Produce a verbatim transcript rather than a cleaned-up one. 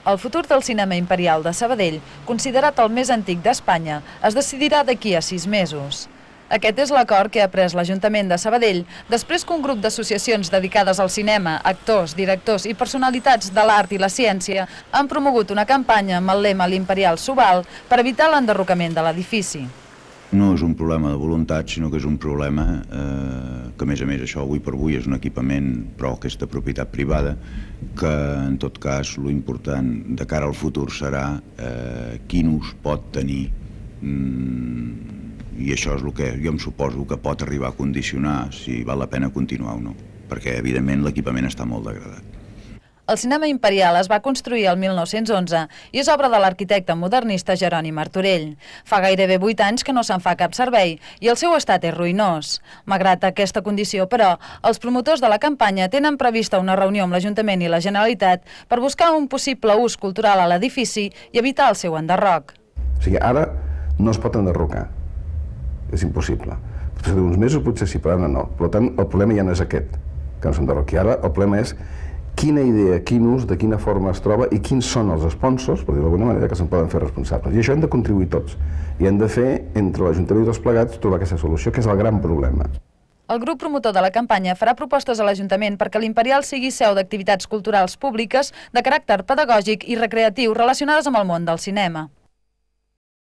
El futur del cinema imperial de Sabadell, considerat el més antic d'Espanya, es decidirà d'aquí a sis mesos. Aquest és l'acord que ha pres l'Ajuntament de Sabadell després que un grup d'associacions dedicades al cinema, actors, directors i personalitats de l'art i la ciència han promogut una campanya amb el lema l'Imperial Subal per evitar l'enderrocament de l'edifici. No és un problema de voluntat, sinó que és un problema eh, que, a més a més, això avui per avui és un equipament, però aquesta propietat privada, que, en tot cas, l'important de cara al futur serà eh, quin ús pot tenir, mm, i això és el que jo em suposo que pot arribar a condicionar si val la pena continuar o no, perquè, evidentment, l'equipament està molt degradat. El cinema imperial es va construir el mil nou-cents onze i és obra de l'arquitecte modernista Jeroni Martorell. Fa gairebé vuit anys que no se'n fa cap servei i el seu estat és ruïnós. Malgrat aquesta condició, però, els promotors de la campanya tenen prevista una reunió amb l'Ajuntament i la Generalitat per buscar un possible ús cultural a l'edifici i evitar el seu enderroc. O sigui, ara no es pot enderrocar. És impossible. Potser d'uns mesos potser sí, però ara no. Per tant, el problema ja no és aquest, que no s'enderroqui. Ara el problema és quina idea, quin ús, de quina forma es troba i quins són els sponsors, per dir d'alguna manera, que se'n poden fer responsables. I això hem de contribuir tots. I hem de fer, entre l'Ajuntament i tots plegats, trobar aquesta solució, que és el gran problema. El grup promotor de la campanya farà propostes a l'Ajuntament perquè l'Imperial sigui seu d'activitats culturals públiques de caràcter pedagògic i recreatiu relacionades amb el món del cinema.